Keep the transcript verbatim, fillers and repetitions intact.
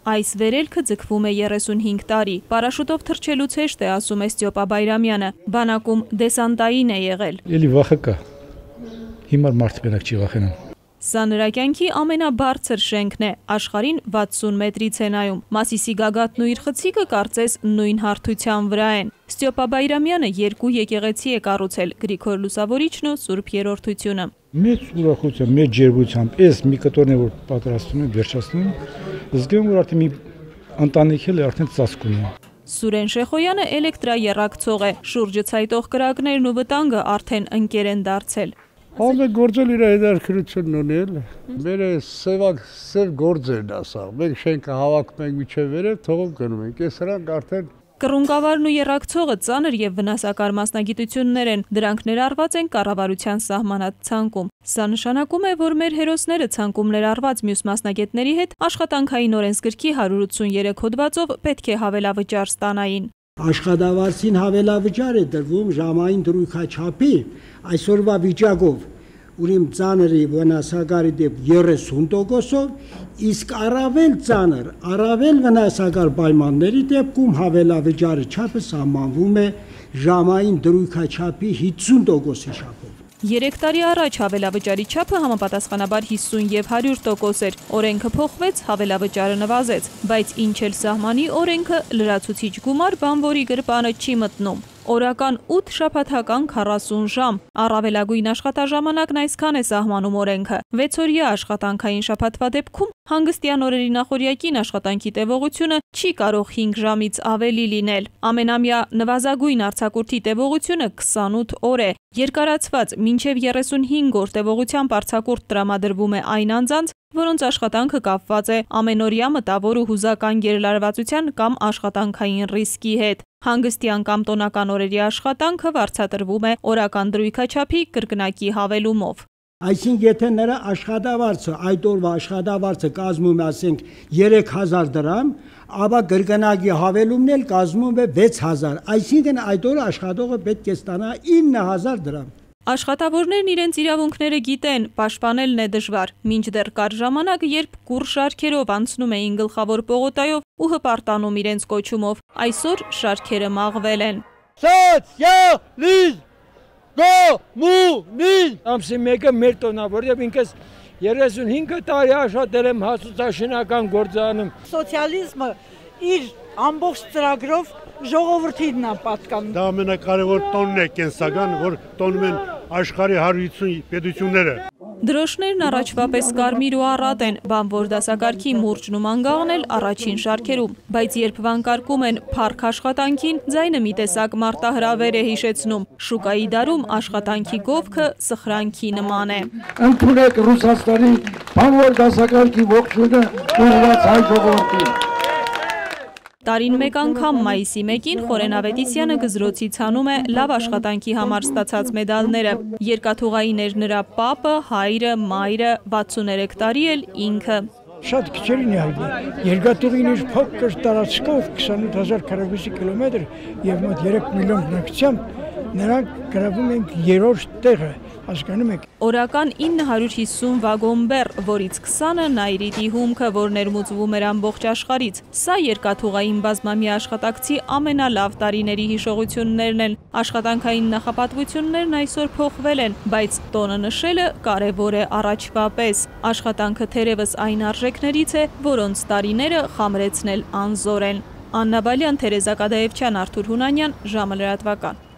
Այս վերելքը ձգվում է երեսունհինգ տարի։ Պարաշուտով թռչելուց հեշտ է, ասում է Ստյոպա Բայրամյանը։ Բանակում դեսանտային է եղել։ Էլի վախը կա։ Հիմա մարդը բնակ չի վախենում։ Սա նրա կյանքի ամենաբարձր շենքն է, աշխարհին վաթսուն մետրից է նայում։ Մասիսի գագաթն ու իր խցիկը կարծես նույն հարթության վրա են։ Ստյոպա Բայրամյանը երկու եկեղեցի է կառուցել՝ Գրիգոր Լուսավորիչն ու Սուրբ Երրորդությունը։ Մեծ ուրախությամբ, մեծ ջերմությամբ, այս մի կտորն է որ պատրաստում են, վերջացնում, զգում որ արդեն մի ընտանիք էլ արդեն ծածկ ունի։ Սուրեն Շեխոյանը էլեկտրաեռակցող է, շուրջը ցայտող կրակներն ու վտանգը արդեն ընկեր են դարձել։ Ամեն գործել իր հետաքրքրությունն ունի էլ։ Մեր սևակ սև գործերն ասա։ Մենք շենքը հավաքում ենք միջև վերև, թողում գնում ենք։ Այս սրանք արդեն Կռունկավարն ու եռակցողը ծանր եւ վնասակար մասնագիտություններ են, դրանք ներառված են կառավարության սահմանած ցանկում։ Սա նշանակում է, որ մեր հերոսները ցանկում ներառված մյուս մասնագետների հետ աշխատանքային օրենսգրքի հարյուր ութսուներեք հոդվածով պետք է հավելավճար ստանային։ Աշխատավարձին հավելավճար է դրվում ժամային դրույքաչափի այսօրվա վիճակով, ուրեմն ծանրի վնասակարի դեպ երեսուն տոկոսով, իսկ առավել ծանր, առավել վնասակար պայմանների դեպքում հավելավճարի չափը սահմանվում է ժամային դրույքաչափի հիսուն տոկոսի չափով։ Երեք տարի առաջ հավելավճարի չափը համապատասխանաբար հիսուն եւ հարյուր տոկոս էր, օրենքը փոխվեց, հավելավճարը նվազեց, բայց ինչ էլ սահմանի օրենքը լրացուցիչ գումար բանվորի գրպանը չի մտնում։ Օրական ութ շաբաթական քառասուն ժամ, առավելագույն աշխատաժամանակն այսքան է սահմանում օրենքը։ վեցօրյա աշխատանքային շաբաթվա դեպքում հանգստյան օրերի նախօրյակին աշխատանքի տևողությունը չի կարող հինգ ժամից ավելի լինել։ Ամենամյա նվազագույն արձակուրդի տևողությունը քսանութ օր է։ Երկարացված մինչև երեսունհինգ օր տևողությամբ արձակուրդ տրամադրվում է այն անձանց, որոնց աշխատանքը կապված է ամենօրյա մտավոր ու հուզական գերլարվածության կամ աշխատանքային ռիսկի հետ։ Հանգստյան կամ տոնական օրերի աշխատանքը վարձատրվում է օրական դրույքաչափի կրկնակի հավելումով։ Այսինքն եթե նրա աշխատավարձը այդ օրվա աշխատավարձը կազմում է ասենք երեք հազար դրամ, ապա կրկնակի հավելումն էլ կազմում է վեց հազար, այսինքն այդ օրը աշխատողը պետք է ստանա ինը հազար դրամ։ Աշխատավորներն իրենց իրավունքները գիտեն, պաշտպանելն է դժվար, մինչդեռ կար ժամանակ, երբ կուռ շարքերով անցնում էին գլխավոր պողոտայով ու հպարտանում իրենց կոչումով, այսօր շարքերը մաղվել են։ Սոցիալիզմ, կոմունիզմ։ Ամսի մեկը մեր տոնա, որտեղ ինքս երեսունհինգ տարի աշխատել եմ հասուցաշինական գործանում։ Սոցիալիզմը իր ամբողջ ծրագրով ժողովրդին է պատկանում։ Դա ամենակարևոր տոնն է կենսական, որ տոնում են աշխարհի հարյուր ութսուն պետությունները։ Դրոշներն առաջվա պես կարմիր ու առատ են, բանվոր դասակարգի մուրճն ու մանգաղն էլ առաջին շարքերում, բայց երբ վանկարկում են փառք աշխատանքին, ձայնը մի տեսակ մարտահրավեր է հիշեցնում։ Շուկայի դարում աշխատանքի գովքը սխրանքի նման է։ Ընդունեք Ռուսաստանի բանվոր դասակարգի ողջույնը ուղղված հայ ժողովրդին։ Տարին մեկ անգամ մայիսի մեկին Խորեն Ավետիսյանը գզրոցից հանում է լավ աշխատանքի համար ստացած մեդալները։ Երկաթուղային էր նրա պապը, հայրը, մայրը, վաթսուներեք տարի էլ ինքը։ Շատ քիչերին է հայտնի։ Երկաթուղին իր փոքր տարածքով քսանութ հազար քառակուսի կիլոմետր եւ մոտ երեք միլիոն բնակչությամբ նրանք գրավում են երրորդ տեղը, հասկանում եք։ Օրական ինը հարյուր հիսուն վագոն բեռ, որից քսանը Նայրիտի հումքը, որ ներմուծվում էր ամբողջ աշխարհից։ Սա երկաթուղային բազմամյա աշխատակցի ամենալավ տարիների հիշողություններն են։ Աշխատանքային նախապատվություններն այսօր փոխվել են, բայց տոնը նշելը կարևոր է առաջվա պես։ Աշխատանքը թերևս այն արժեքներից է, որոնց տարիները խամրեցնել անզոր են։ Աննա Բալյան, Թերեզա Կադաևչյան, Արթուր Հունանյան, ժամը լրատվական։